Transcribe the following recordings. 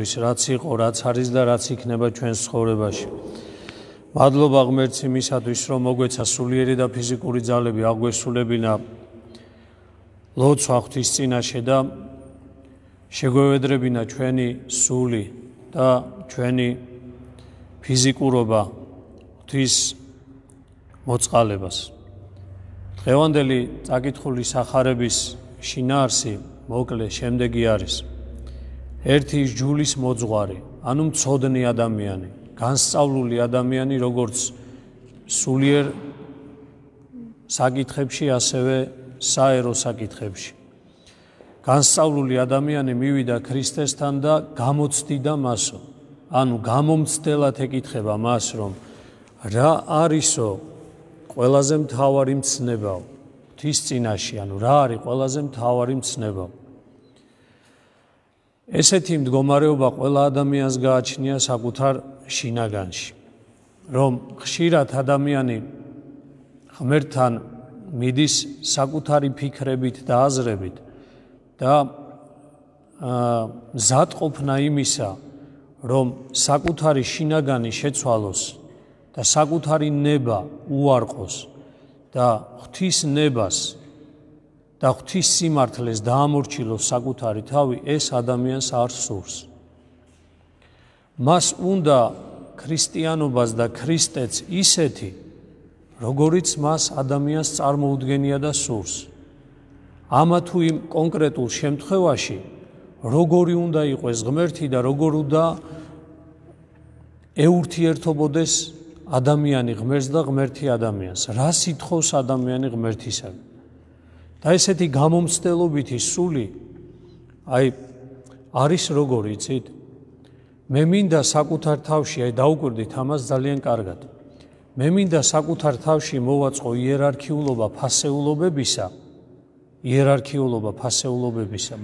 რაც იყო, რაც არის და რაც იქნება ჩვენს ცხოვრებაში. მადლობა ღმერთს იმისათვის, რომ მოგვეცა სულიერი და ფიზიკური ძალები აგვესრულებინა ლოცვა ღვთის წინაშე და შეგვევედრებინა ჩვენი სული და ჩვენი ფიზიკურობა ღვთის მოწყალებას. დღევანდელი წაკითხული სახარების შინაარსი მოკლე შემდეგი არის. ერთი ჯულის მოძღვარი, ანუ მცოდნი ადამიანი, განსწავლული ადამიანი, როგორც სულიერ საკითხებში, ასევე საერო საკითხებში. განსწავლული ადამიანი მივიდა ქრისტესთან და გამოცდიდა მასო, ანუ გამომცდელად ეკითხება მას, რომ რა არისო ყველაზე მთავარი მცნებაო ღვთის წინაშე, ანუ რა არის ყველაზე მთავარი მცნებაო. ესეთი მდგომარეობა ყველა ადამიანს გააჩნია საკუთარ შინაგანში, რომ ხშირად ადამიანი ღმერთთან მიდის საკუთარი ფიქრებით და აზრებით და მზადყოფნა იმისა, რომ საკუთარი შინაგანი შეცვალოს და საკუთარი ნება უარყოს და ღვთის ნებას და ღვთის სიმართლეს დაამორჩილოს საკუთარი თავი, ეს ადამიანს არ სურს. მას უნდა ქრისტიანობას და ქრისტეც ისეთი, როგორიც მას ადამიანს წარმოუდგენია და სურს. ამა თუ იმ კონკრეტულ შემთხვევაში, როგორი უნდა იყოს ღმერთი და როგორ უნდა ეურთიერთობოდეს ადამიანი ღმერთს და ღმერთი ადამიანს. რა სითხოვს ადამიანი ღმერთისაგან. და ესეთი გამომცდელობითი სული არის როგორი, იცით? მე მინდა საკუთარ თავში, დაუკვირდით ამას ძალიან კარგად. მე მინდა საკუთარ თავში მოვაწყო იერარქიულობა,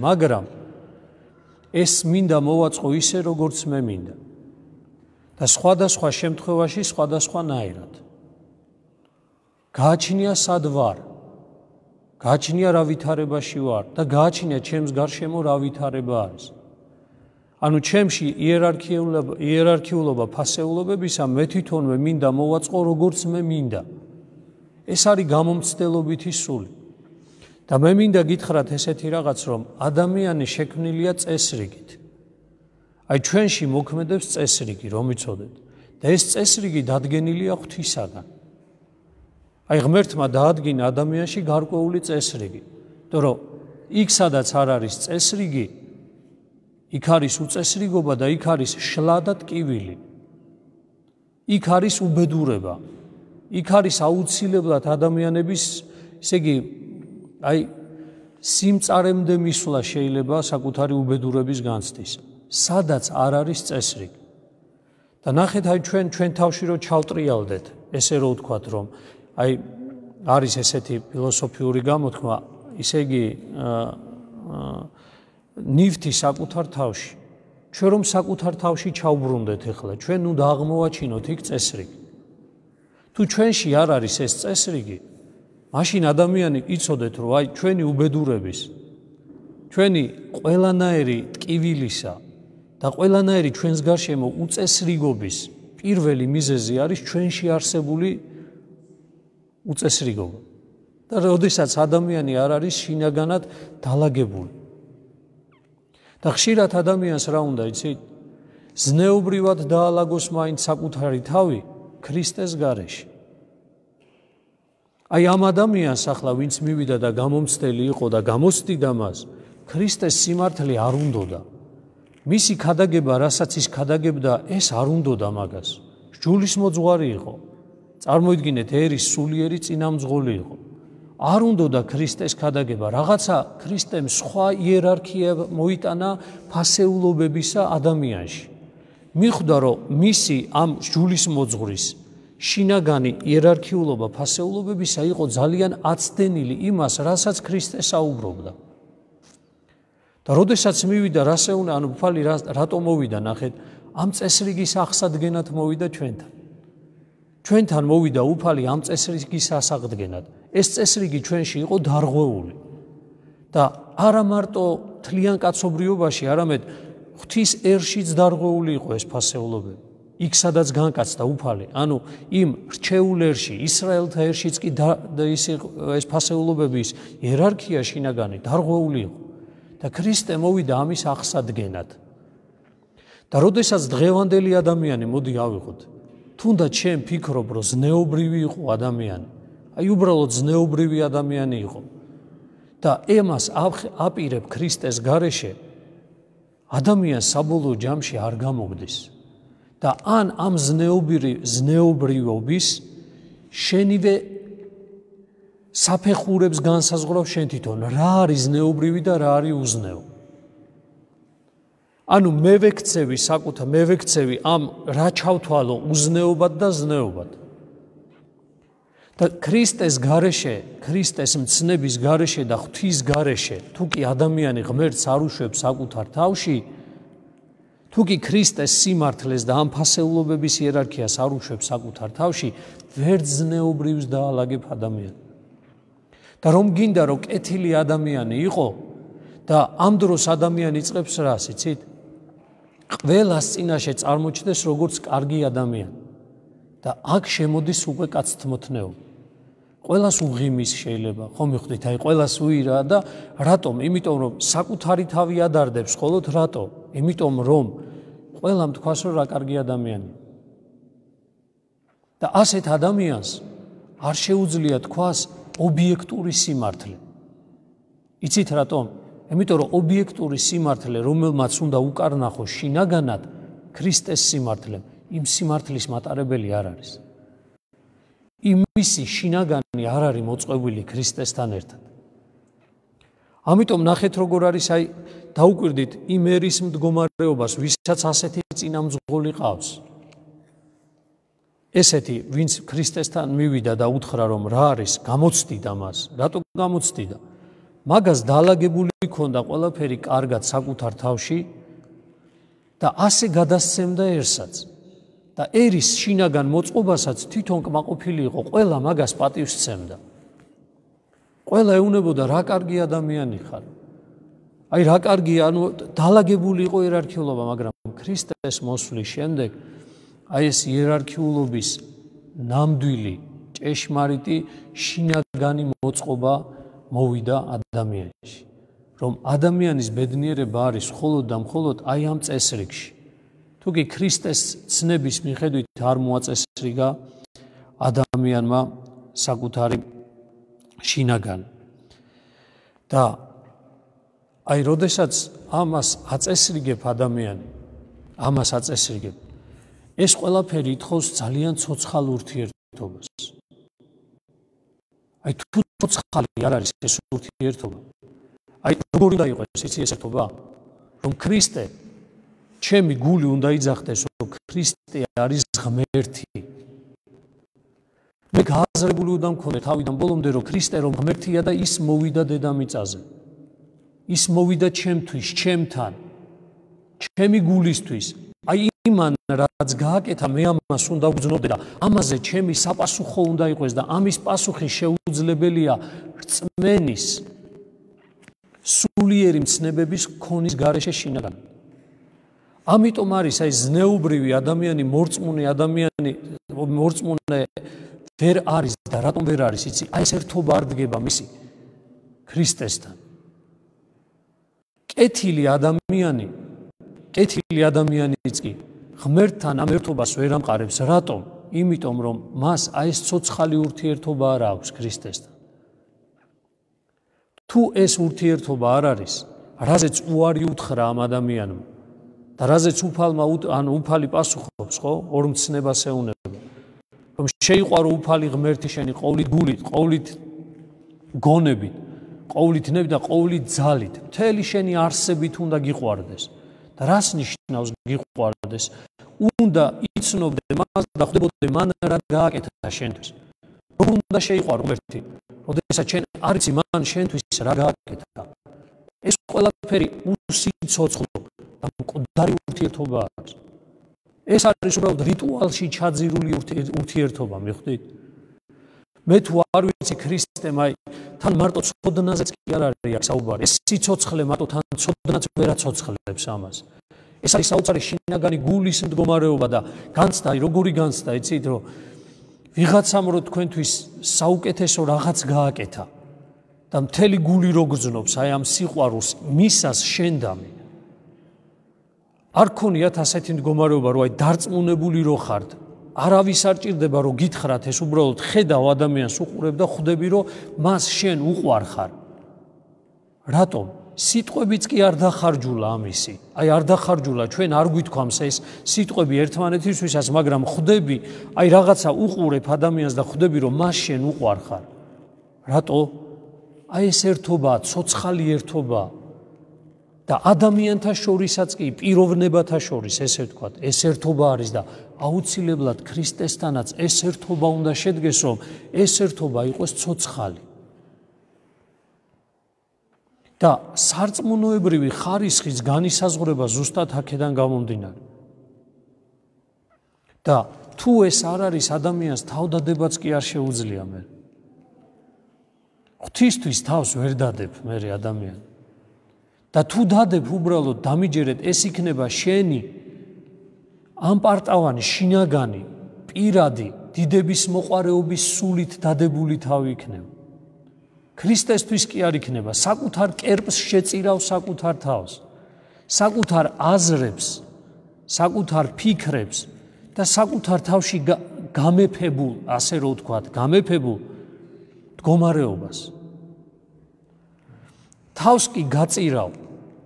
მაგრამ ეს მინდა მოვაწყო ისე, როგორც მე მინდა. და სხვადასხვა შემთხვევაში სხვადასხვანაირად. გააჩნია სად ვარ, გააჩნია რა ვითარებაში ვარ და გააჩნია ჩემს გარშემო რა ვითარება არის. ანუ ჩემში იერარქიულობა ფასეულობებისა მე თვითონვე მინდა მოვაწყო როგორც მე მინდა. ეს არის გამომცდელობითი სული. და მე მინდა გითხრათ ესეთი რაღაც, რომ ადამიანი შექმნილია წესრიგით. ჩვენში მოქმედებს წესრიგი, რომ იცოდეთ. და ეს წესრიგი დადგენილია ღვთისაგან. ღმერთმა დაადგინა ადამიანში გარკვეული წესრიგი. იმიტომ რომ იქ სადაც არ არის წესრიგი, იქ არის უწესრიგობა და იქ არის შლა და ტკივილი. იქ არის უბედურება. იქ არის აუცილებლად ადამიანების, ესე იგი, სიმწარემდე მისვლა შეიძლება საკუთარი უბედურების განცდის. სადაც არ არის წესრიგი. და ნახეთ, ჩვენ თავში რო ჩავტრიალდეთ, ესე რო ვთქვათ, რომ არის ესეთი ფილოსოფიური გამოთქმა, ისე იგი ნივთი საკუთარ თავში. ჩვენ რომ საკუთარ თავში ჩავბრუნდეთ ახლა, ჩვენ უნდა აღმოვაჩინოთ იქ წესრიგი. თუ ჩვენში არ არის ეს წესრიგი, მაშინ ადამიანი იცოდეთ, რომ ჩვენი უბედურების, ჩვენი ყველანაირი ტკივილისა და ყველანაირი ჩვენს გარშემო უწესრიგობის პირველი მიზეზი არის ჩვენში არსებული უწესრიგობა. და როდესაც ადამიანი არ არის შინაგანად დალაგებული. და ხშირად ადამიანს რა უნდა, იცით? ზნეობრივად დაალაგოს მაინც საკუთარი თავი ქრისტეს გარეშე. ამ ადამიანს ახლა, ვინც მივიდა და გამომცდელი იყო და გამოცდიდა მას, ქრისტეს სიმართლე არ უნდოდა. მისი ქადაგება, რასაც ის ქადაგებდა, ეს არ უნდოდა მაგას. ჯულის მოძღვარი იყო. წარმოიდგინეთ, ერის სულიერი წინამძღოლი იყო. არ უნდოდა ქრისტეს ქადაგება, რაღაცა ქრისტემ სხვა იერარქია მოიტანა ფასეულობებისა ადამიანში. მიხვდა, რომ მისი ამ ჯულის მოძღვრის შინაგანი იერარქიულობა ფასეულობებისა იყო ძალიან აცდენილი იმას, რასაც ქრისტე საუბრობდა. და როდესაც მივიდა, ანუ უფალი რატო მოვიდა, ნახეთ, ამ წესრიგის აღსადგენად მოვიდა ჩვენთან. ჩვენთან მოვიდა უფალი ამ წესრიგის ასაღდგენად. ეს წესრიგი ჩვენში იყო დარღვეული. და არა მარტო თლიან კაცობრიობაში, არამედ ღვთის ერშიც დარღვეული იყო ეს ფასეულობები. იქ სადაც განკაცდა უფალი, ანუ იმ რჩეულ ერში, ისრაელთა ერშიც კი ეს ფასეულობების იერარქია შინაგანი დარღვეული იყო და ქრისტე მოვიდა ამის აღსადგენად. და როდესაც დღევანდელი ადამიანი, მოდი ავიღოთ, თუნდაც შენ ფიქრობ, რომ ზნეობრივი იყო ადამიანი, აი უბრალოდ ზნეობრივი ადამიანი იყო და ემას აპირებ ქრისტეს გარეშე, ადამიანს საბოლოო ჯამში არ გამოგდის. და ან ამ ზნეობრიობის შენივე საფეხურებს განსაზღვრავს შენ თვითონ, რა არის ზნეობრივი და რა არის უზნეო. ანუ მე ვექცევი ამ რა ჩავთვალო უზნეობად და ზნეობად. და ქრისტეს გარეშე, ქრისტეს მცნების გარეშე და ღვთის გარეშე, თუ კი ადამიანი ღმერთს არ უშვებს საკუთარ თავში, თუ კი ქრისტეს სიმართლეს და ამ ფასეულობების იერარქიას არ უშვებს საკუთარ თავში, ვერც ზნეობრივს დაალაგებ ადამიანი. და რომ გინდა რომ კეთილი ადამიანი იყო და ამ დროს ადამიანი იწყებს რას, იცით? ყველას წინაშე წარმოჩნდეს როგორც კარგი ადამიანი. და აქ შემოდის უკვე კაცთმოთნეობა. ყველას უღიმის შეიძლება, ხო მიხვდით, აი ყველას უირა და რატომ? იმიტომ რომ საკუთარი თავი ადარდებს მხოლოდ რატო? იმიტომ რომ ყველამ თქვას რომ რა კარგი ადამიანია. და ასეთ ადამიანს არ შეუძლია თქვას ობიექტური სიმართლე. იცით რატომ? იმიტომ რომ ობიექტური სიმართლე, რომელმაც უნდა უკარნახოს შინაგანად ქრისტეს სიმართლემ, იმ სიმართლის მატარებელი არ არის. იმისი შინაგანი არ არის მოწყობილი ქრისტესთან ერთად. ამიტომ ნახეთ როგორ არის, აი დაუკვირდით იმ ერის მდგომარეობას, ვისაც ასეთი წინამძღოლი ყავს. ესეთი, ვინც ქრისტესთან მივიდა და უთხრა რომ რა არის, გამოცდიდა მას. რატო გამოცდიდა? მაგას დაალაგებული ჰქონდა ყველაფერი კარგად საკუთარ თავში და ასე გადასცემდა ერსაც. და ერის შინაგან მოწყობასაც თვითონ კმაყოფილი იყო, ყველა მაგას პატივს სცემდა. ყველა ეუნებოდა რა კარგი ადამიანი ხარ. აი რა კარგია, ანუ დაალაგებული იყო იერარქიულობა, მაგრამ ქრისტეს მოსვლის შემდეგ აი ეს იერარქიულობის ნამდვილი, ჭეშმარიტი შინაგანი მოწყობა მოვიდა ადამიანში. რომ ადამიანის ბედნიერება არის მხოლოდ და მხოლოდ აი ამ წესრიგში. თუ კი ქრისტეს ცნების მიხედვით არ მოაწესრიგა ადამიანმა საკუთარი შინაგანი. და აი როდესაც ამას აწესრიგებ ადამიანი, ეს ყველაფერი ითხოვს ძალიან ცოცხალ ურთიერთობას. აი თუ ცოცხალი არ არის ეს ურთიერთობა, აი როგორ უნდა იყოს იცი ეს ერთობა? რომ ქრისტე ჩემი გული უნდა იძახდეს, რომ ქრისტე არის ღმერთი. მე გააზრებული უნდა მქონე თავიდან ბოლომდე, რომ ქრისტე რომ ღმერთია და ის მოვიდა დედამიწაზე. ის მოვიდა ჩემთვის, ჩემთან, ჩემი გულისთვის. აი იმან რაც გააკეთა, მე ამას უნდა ვგრძნობდე და ამაზე ჩემი საპასუხო უნდა იყოს და ამის პასუხი შეუძლებელია რწმენის სულიერი მცნებების ქონის გარეშე შინაგან. ამიტომ არის აი ზნეობრივი ადამიანი, მორწმუნე ვერ არის და რატომ ვერ არის, იცი? აი ეს ერთობა არ დგება მისი ქრისტესთან. კეთილი ადამიანიც კი ღმერთთან ამ ერთობას ვერ ამყარებს. რატომ? იმიტომ რომ მას აი ეს ცოცხალი ურთიერთობა არ აქვს ქრისტესთან. თუ ეს ურთიერთობა არ არის, რაზეც უარი უთხრა ამ ადამიანმა და რაზეც უფალი პასუხობს, ხო? ორ მცნებას ეუნება. რომ შეიყვარო უფალი ღმერთი შენი ყოვლით გულით, ყოვლით გონებით, ყოვლით ნებით და ყოვლით ძალით, მთელი შენი არსებით უნდა გიყვარდეს. და რას ნიშნავს გიყვარდეს? უნდა იცნობდე მას და ხვდებოდე მან რა გააკეთა შენთვის. რომ უნდა შეიყვარო ღმერთი, როდესაც შენ არ იცი მან შენთვის რა გააკეთა. ეს ყველაფერი უსიცოცხლო და მკვდარი ურთიერთობა არის. ეს არის უბრალოდ რიტუალში ჩაძირული ურთიერთობა, მიხვდით? მე თუ არ ვიცი ქრისტემ, აი თან მარტო ცოდნაზეც კი არ არის აქ საუბარი. ეს სიცოცხლე მარტო თან ცოდნაც ვერ აცოცხლებს ამას. ეს არის საოცარი შინაგანი გულის მდგომარეობა და განცდა, როგორი განცდა, იცით, რომ ვიღაცამ რო თქვენთვის საუკეთესო რაღაც გააკეთა და მთელი გული რო გრძნობს აი ამ სიყვარულს მისას შენდამი. არ ქონიათ ასეთი მდგომარეობა, რომ აი დარწმუნებული რო ხართ, არავის არ ჭირდება რომ გითხრათ, ეს უბრალოდ ხედავ ადამიანს უყურებ და ხვდები რომ მას შენ უყვარ ხარ. რატომ? სიტყვებიც კი არ დახარჯულა ამისი. აი არ დახარჯულა, ჩვენ არ გვითქვამს ეს სიტყვები ერთმანეთისთვისაც, მაგრამ ხვდები, აი რაღაცა უყურებ ადამიანს და ხვდები რომ მას შენ უყვარ ხარ. რატო? აი ეს ერთობაა, ცოცხალი ერთობაა. და ადამიანთა შორისაც კი, პიროვნებათა შორის, ესე ვთქვათ, ეს ერთობა არის და აუცილებლად ქრისტესთანაც ეს ერთობა უნდა შედგეს, რომ ეს ერთობა იყოს ცოცხალი. და სარწმუნოებრივი ხარისხის განისაზღვრება ზუსტად აქედან გამომდინარე. და თუ ეს არ არის, ადამიანს თავდადებაც კი არ შეუძლია მე. ღვთისთვის თავს ვერ დადებ მე ადამიანი. და თუ დადებ უბრალოდ დამიჯერეთ, ეს იქნება შენი ამპარტავანი, შინაგანი, პირადი, დიდების მოყვარეობის სულით დადებული თავი იქნება. ქრისტესთვის კი არ იქნება, საკუთარ კერპს შეწირავ საკუთარ თავს, საკუთარ აზრებს, საკუთარ ფიქრებს და საკუთარ თავში გამეფებულ, ასე რომ ვთქვათ, გამეფებულ მდგომარეობას. თავს კი გაწირავ,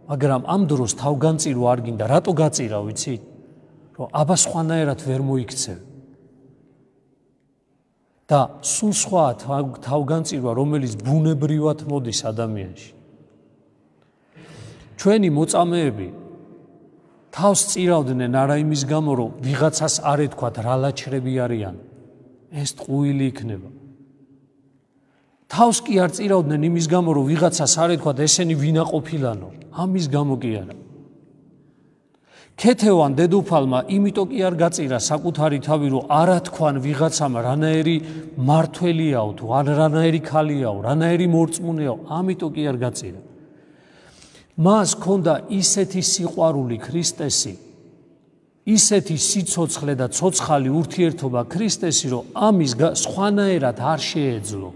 მაგრამ ამ დროს თავგანწირო არ გინდა. რატო გაწირავ, იცით? რომ აბა სხვანაირად ვერ მოიქცევ. და სულ სხვა თავგანწირვა, რომელიც ბუნებრივად მოდის ადამიანში. ჩვენი მოწამეები თავს წირავდნენ არა იმის გამო, რომ ვიღაცას არ ეთქვათ რა ლაჩრები არიან, ეს ტყუილი იქნება. თავს კი არ წირავდნენ იმის გამო, რომ ვიღაცას არ ეთქვათ ესენი ვინაყოფილანო, ამის გამო კი არა. ქეთევან დედოფალმა იმიტომ კი არ გაწირა საკუთარი თავი, რომ არა თქვან ვიღაცამ რანაირი მართველიაო თუ რანაირი ქალიაო, რანაირი მორწმუნეაო, ამიტომ კი არ გაწირა. მას ჰქონდა ისეთი სიყვარული ქრისტესი, ისეთი სიცოცხლე და ცოცხალი ურთიერთობა ქრისტესი, რომ ამის სხვანაირად არ შეეძლო.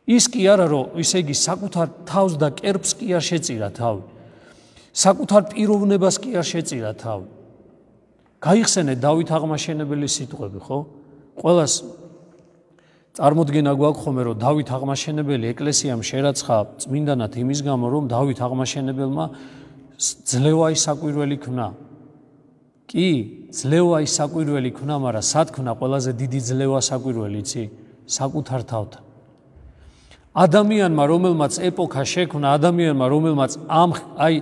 ის კი არა, რომ ისე იგი საკუთარ თავს და კერპს კი არ შეწირა თავი. საკუთარ პიროვნებას კი არ შეწირა თავი. გაიხსენეთ დავით აღმაშენებელის სიტყვები, ხო? ყველას წარმოდგენა გვაქვს ხოლმე, რომ დავით აღმაშენებელი ეკლესიამ შერაცხა წმინდანად იმის გამო, რომ დავით აღმაშენებელმა ძლევა საკვირველი ქნა. კი, ძლევა საკვირველი ქნა, მაგრამ სად ქნა ყველაზე დიდი ძლევა საკვირველი, იცი? საკუთარ თავთან. ადამიანმა, რომელმაც ეპოქა შექმნა, ადამიანმა, რომელმაც ამ აი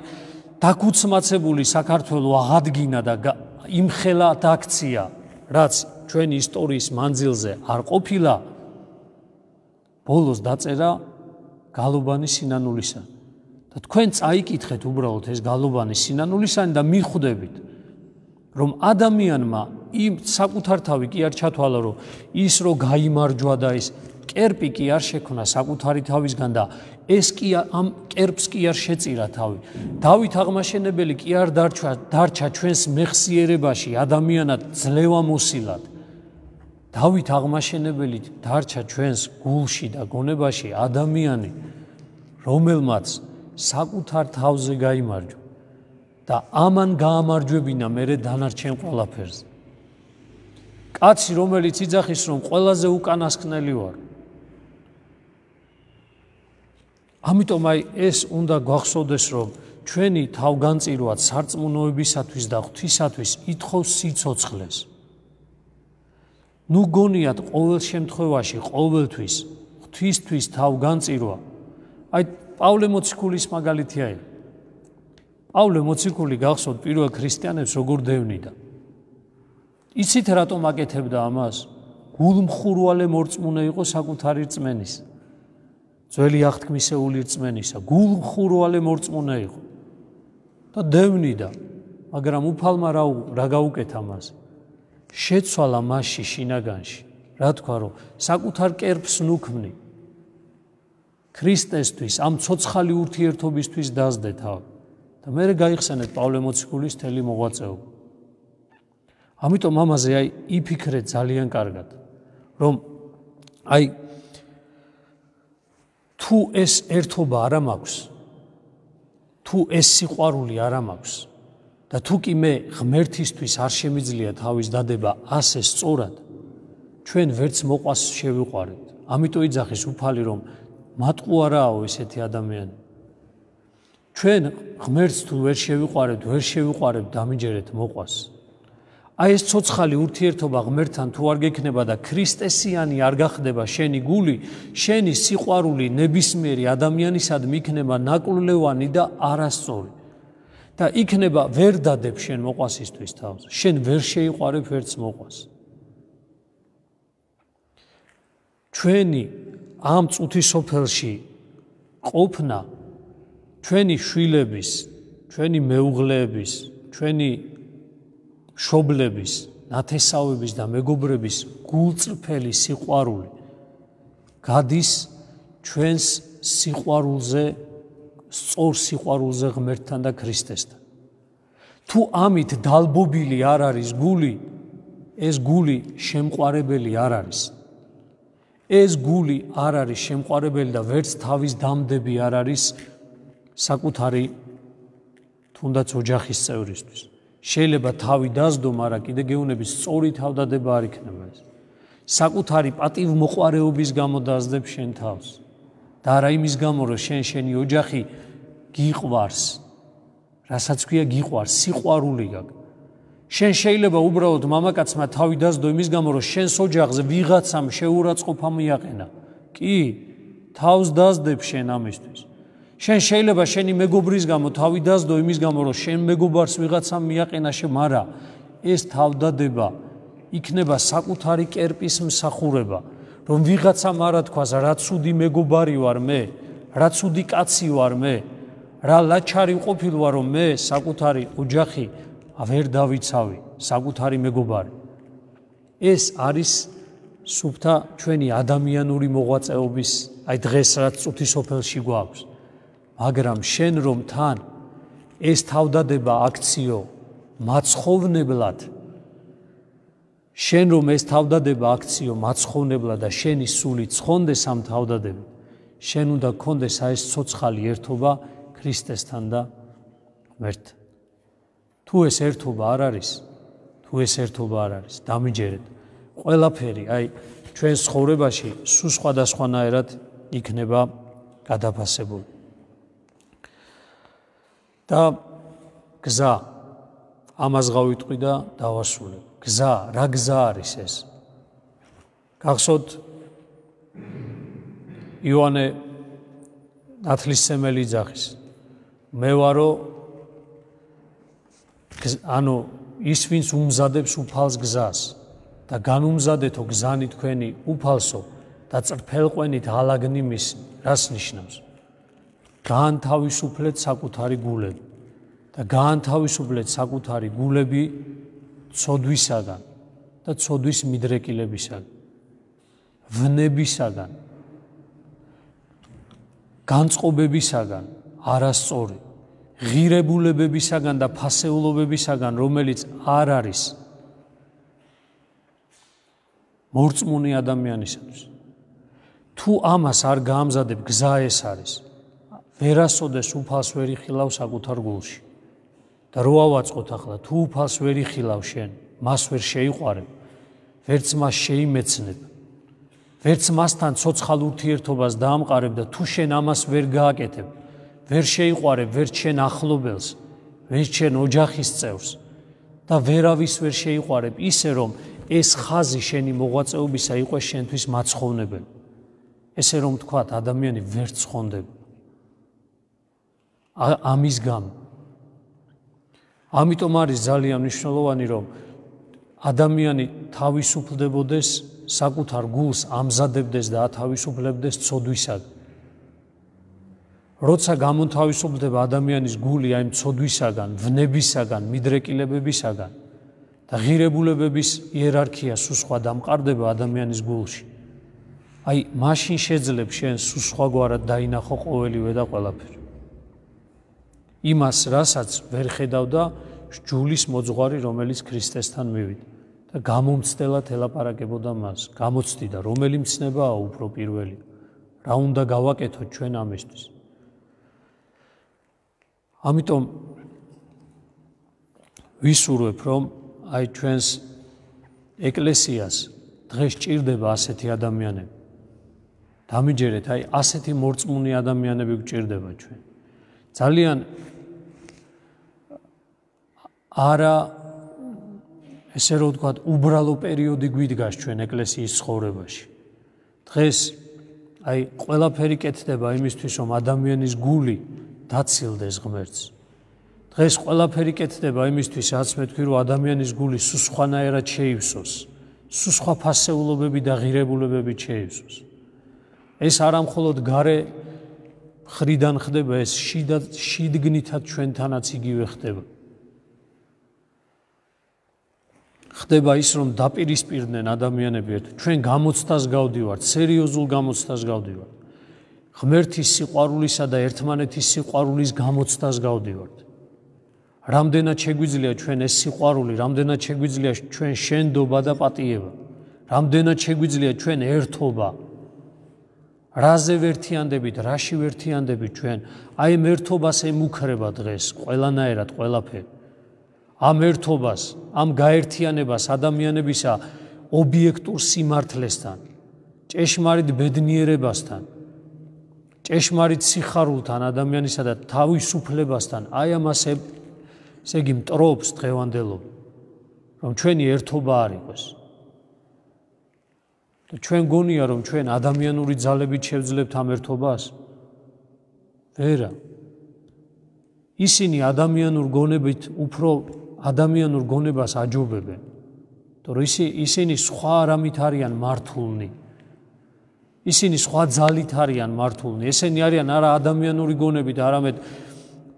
დაკუცმაცებული საქართველო აღადგინა და იმხელა დაქცია, რაც ჩვენი ისტორიის მანძილზე არ ყოფილა, ბოლოს დაწერა გალობანი სინანულისანი. და თქვენ წაიკითხეთ უბრალოდ ეს გალობანი სინანულისანი და მიხვდებით, რომ ადამიანმა იმ საკუთარ თავი კი არ ჩათვალა, რომ ის რო გაიმარჯვა და ის კერპი კი არ შექმნა საკუთარი თავისგან და ეს კი ამ კერპს კი არ შეწირა თავი. დავით აღმაშენებელი კი არ დარჩა ჩვენს მეხსიერებაში ადამიანად ძლევამოსილად. დავით აღმაშენებელი დარჩა ჩვენს გულში და გონებაში ადამიანი, რომელმაც საკუთარ თავზე გაიმარჯვა და ამან გაამარჯვებინა მერე დანარჩენ ყველაფერზე. კაცი, რომელიც იძახის, რომ ყველაზე უკანასკნელი ვარ. ამიტომ აი ეს უნდა გვახსოვდეს, რომ ჩვენი თავგანწირვაც სარწმუნოებისათვის და ღვთისათვის ითხოვს სიცოცხლეს. ნუ გონიათ ყოველ შემთხვევაში, ყოველთვის ღვთისთვის თავგანწირვა. აი პავლე მოციქულის მაგალითი აი. პავლე მოციქული გახსოვთ პირველ ქრისტიანებს როგორ დევნიდა. იცით რატომ აკეთებდა ამას? გულმხურვალე მორწმუნე იყო საკუთარი რწმენის. ძველი აღთქმისეული რწმენისა, გულმხურვალე მორწმუნე იყო. და დევნიდა, მაგრამ უფალმა რა გაუკეთა მას? შეცვალა მასში შინაგანში. რა თქვა, რომ საკუთარ კერპს ნუქმნი. ქრისტესთვის, ამ ცოცხალი ურთიერთობისთვის დასდე თავი. და მე გაიხსენეთ პავლე მოციქულის თელი მოღვაწეობა. ამიტომ ამაზე იფიქრეთ ძალიან კარგად, რომ თუ ეს ერთობა არ მაქვს, თუ ეს სიყვარული არ მაქვს და თუ კი მე ღმერთისთვის არ შემიძლია თავის დადება ასე სწორად, ჩვენ ვერც მოყვას შევიყვარებთ. ამიტომ იძახის უფალი, რომ მატყუ არაო ესეთი ადამიანი. ჩვენ ღმერთს თუ ვერ შევიყვარებთ დამიჯერეთ მოყვას. ეს ცოცხალი ურთიერთობა ღმერთთან თუ არ გექნება და ქრისტესიანი არ გახდება შენი გული, შენი სიყვარული ნებისმიერი ადამიანისადმი იქნება ნაკვლევანი და არასწორი. და იქნება ვერ დადებ შენ მოყვასისთვის თავს. შენ ვერ შეიყვარებ ვერც მოყვას. ჩვენი ამ წუთისოფელში ყოფნა ჩვენი შვილების, ჩვენი მეუღლეების, ჩვენი მშობლების, ნათესავების და მეგობრების გულწრფელი სიყვარული გადის ჩვენს სიყვარულზე, სწორ სიყვარულზე ღმერთთან და ქრისტესთან. თუ ამით დალბობილი არ არის გული, ეს გული შემყარებელი არ არის. ეს გული არ არის შემყარებელი და ვერც თავის დამდები არ არის საკუთარი თუნდაც ოჯახის წევრისთვის. შეიძლება თავი დასდო, მაგრამ კიდე გეუბნებით სწორი თავდადება არ იქნება ეს. საკუთარი პატივმოყვარეობის გამო დასდებ შენ თავს. და არა იმის გამო, რომ შენი ოჯახი გიყვარს. რასაც ქვია გიყვარს, სიყვარული გაქვს. შენ შეიძლება უბრალოდ მამაკაცმა თავი დასდო იმის გამო, რომ შენს ოჯახზე ვიღაცამ შეურაცხყოფა მიაყენა. კი, თავს დასდებ შენ ამისთვის. შენ შეიძლება შენი მეგობრის გამო თავი დასდო იმის გამო, რომ შენ მეგობარს ვიღაცამ მიაყენა მაგრამ ეს თავდადება იქნება საკუთარი კერპის მსახურება, რომ ვიღაცამ არა თქვას, რა ცუდი მეგობარი ვარ მე, რა ცუდი კაცი ვარ მე, რა ლაჩარი ყოფილ ვარ, რომ მე საკუთარი ოჯახი ვერ დავიცავი, საკუთარი მეგობარი. ეს არის სუფთა ჩვენი ადამიანური მოღვაწეობის, დღეს რაც წუთისოფელში გვაქვს. მაგრამ შენ რომ თან ეს თავდადება აქციო მაცხოვნებლად, შენ რომ ეს თავდადება აქციო მაცხოვნებლად და შენი სული ცხონდეს ამ თავდადებით, შენ უნდა გქონდეს ეს ცოცხალი ერთობა ქრისტესთან და ღმერთთან. თუ ეს ერთობა არ არის, დამიჯერეთ. ყველაფერი, ჩვენს ცხოვრებაში სულ სხვადასხვანაირად იქნება გადაფასებული. და გზა, ამას გავიტყვი და დავასრულებ. გზა, რა გზა არის ეს? გახსოვთ იოანე ნათლისმცემელი იძახის. მე ვარო ის ვინც უმზადებს უფალს გზას და განუმზადეთო გზანი თქვენი უფალსო და წრფელყვენით ალაგნიმის, რას ნიშნავს? გაანთავისუფლეთ საკუთარი გულები და გაანთავისუფლეთ საკუთარი გულები ცოდვისაგან და ცოდვის მიდრეკილებისაგან, ვნებისაგან, განწყობებისაგან, არასწორი, ღირებულებებისაგან და ფასეულობებისაგან, რომელიც არ არის მორწმუნე ადამიანისათვის. თუ ამას არ გაამზადებ, გზა ეს არის. ვერასოდეს უფალს ვერ იხილავ საკუთარ გულში. და რო ავაწყოთ ახლა, თუ უფალს ვერ იხილავ შენ, მას ვერ შეიყვარებ, ვერც მას შეიმეცნებ, ვერც მასთან ცოცხალ ურთიერთობას დაამყარებ და თუ შენ ამას ვერ გააკეთებ, ვერ შეიყვარებ, ვერც შენ ახლობელს, ვერც შენ ოჯახის წევრს და ვერავის ვერ შეიყვარებ, ისე რომ ეს ხაზი შენი მოღვაწეობისა იყოს შენთვის მაცხოვნებელი. ესე რომ თქვათ, ადამიანი ვერ ცხონდება. ამის გამო. ამიტომ არის ძალიან მნიშვნელოვანი, რომ ადამიანი თავისუფლდებოდეს, საკუთარ გულს ამზადებდეს და ათავისუფლებდეს ცოდვისაგან. როცა გამონთავისუფლდება ადამიანის გული ამ ცოდვისაგან, ვნებისაგან, მიდრეკილებებისაგან და ღირებულებების იერარქია სულ სხვა დამყარდება ადამიანის გულში. მაშინ შეძლებ შენ სულ სხვაგვარად დაინახო ყოველივე და ყველაფერი. იმას, რასაც ვერ ხედავდა ჯულის მოძღვარი, რომელიც ქრისტესთან მივიდა და გამომცდელად ელაპარაკებოდა მას. გამოცდიდა, რომელი მცნებაა უფრო პირველი, რა უნდა გავაკეთოთ ჩვენ ამისთვის. ამიტომ ვისურვებ, რომ აი ჩვენს ეკლესიას დღეს ჭირდება ასეთი ადამიანები. დამიჯერეთ, აი ასეთი მორწმუნე ადამიანები გვჭირდება ჩვენ. ძალიან არა ესე რომ ვთქვათ, უბრალო პერიოდი გვიდგას ჩვენ ეკლესიის ცხოვრებაში. დღეს აი ყველაფერი კეთდება იმისთვის, რომ ადამიანის გული დაცილდეს ღმერთს. დღეს ყველაფერი კეთდება იმისთვის, რაც მე თქვი, რომ ადამიანის გული სულ სხვანაირად შეივსოს, სულ სხვა ფასეულობები და ღირებულებები შეივსოს. ეს არა მხოლოდ გარე ხრიდან ხდება, ეს შიგნითაც ჩვენთანაც იგივე ხდება. ხდება ის, რომ დაპირისპირდნენ ადამიანები ერთ. ჩვენ გამოცდას გავდივართ, სერიოზულ გამოცდას გავდივართ. ღმერთის სიყვარულისა და ერთმანეთის სიყვარულის გამოცდას გავდივართ. რამდენად შეგვიძლია ჩვენ ეს სიყვარული, რამდენად შეგვიძლია ჩვენ შენდობა და პატიება, რამდენად შეგვიძლია ჩვენ ერთობა. რაზე ვერთიანდებით, რაში ვერთიანდებით ჩვენ, აი ამ ერთობას ემუქრება დღეს ყველანაირად ყველაფერი. ამ ერთობას, ამ გაერთიანებას ადამიანებისა ობიექტურ სიმართლესთან, ჭეშმარიტ ბედნიერებასთან, ჭეშმარიტ სიხარულთან ადამიანისა და თავისუფლებასთან, აი ამას ესე იგი მტრობს დღევანდელობა, რომ ჩვენი ერთობა არ იყოს. და ჩვენ გონია, რომ ჩვენ ადამიანური ძალებით შევძლებთ ამ ერთობას? ვერა. ისინი ადამიანურ გონებით უფრო ადამიანურ გონებას აჯობებენ. თორე ისინი სხვა არამით არიან მართულნი. ისინი სხვა ძალით არიან მართულნი. ესენი არიან არა ადამიანური გონებით, არამედ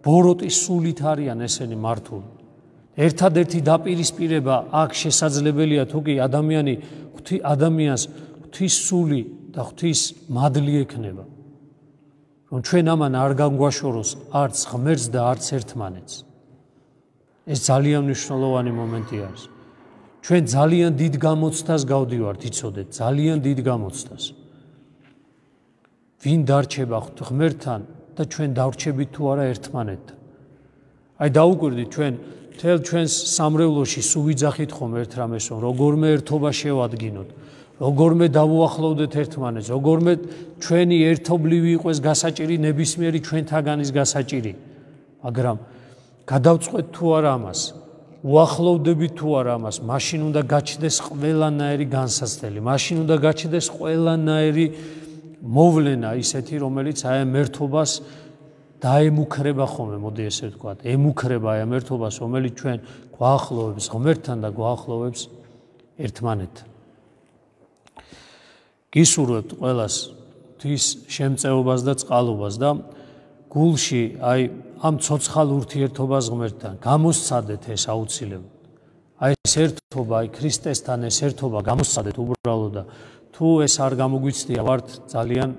ბოროტის სულით არიან ესენი მართულნი. ერთადერთი დაპირისპირება აქ შესაძლებელია თუ კი ადამიანს ღვთის სული და ღვთის მადლი ექნება. რომ ჩვენ ამან არ განგვაშოროს არც ღმერთს და არც ერთმანეთს. ეს ძალიან მნიშვნელოვანი მომენტი არის. ჩვენ ძალიან დიდ გამოცდას გავდივართ, იცოდეთ, ძალიან დიდ გამოცდას. ვინ დარჩება ღმერთთან და ჩვენ დავრჩებით თუ არა ერთმანეთთან. აი დაუკვირდით ჩვენ მთელ ჩვენს სამრევლოში სულ ვიძახით ხომ ერთ რამეს, რომ როგორმე ერთობა შევადგინოთ, როგორმე დავუახლოვდეთ ერთმანეთს, როგორმე ჩვენი ერთობლივი იყოს გასაჭირი ნებისმიერი ჩვენთაგანის გასაჭირი. მაგრამ გადავწყვეთ თუ არა ამას, უახლოვდებით თუ არა ამას, მაშინ უნდა გაჩნდეს ყველანაირი განსაცდელი, მაშინ უნდა გაჩნდეს ყველანაირი მოვლენა ისეთი, რომელიც აი ამ ერთობას დაემუქრება ხოლმე, მოდი ესე ვთქვათ, ემუქრება აი ამ ერთობას, რომელიც ჩვენ გვაახლოვებს ღმერთთან და გვაახლოვებს ერთმანეთთან. გისურვებთ ყველას ღვთის შემწეობას და წყალობას და გულში აი ამ ცოცხალ ურთიერთობას ღმერთთან გამოსცადეთ ეს აუცილებლად. აი ეს ერთობა, აი ქრისტესთან ეს ერთობა გამოსცადეთ უბრალოდ და თუ ეს არ გამოგვიცდია, ვართ ძალიან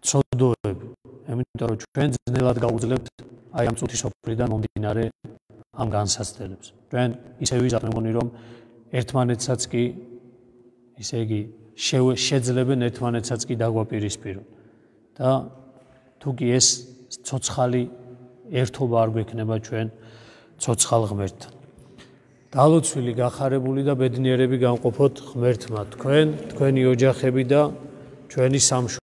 ცოდოები. იმიტომ რომ ჩვენ ძნელად გავუძლებთ აი ამ წუთის სოფლიდან მომდინარე ამ განსაცდელებს. ჩვენ ისე ვიზარდ მე მგონი რომ ერთმანეთსაც კი ისე იგი შეძლებენ ერთმანეთსაც კი დაგვაპირისპირონ. და თუ კი ეს ცოცხალი ერთობა არ გვექნება ჩვენ ცოცხალ ღმერთთან. დალოცვილი, გახარებული და ბედნიერები გამყოფოთ ღმერთმა თქვენ, თქვენი ოჯახები და ჩვენი სამშობლო.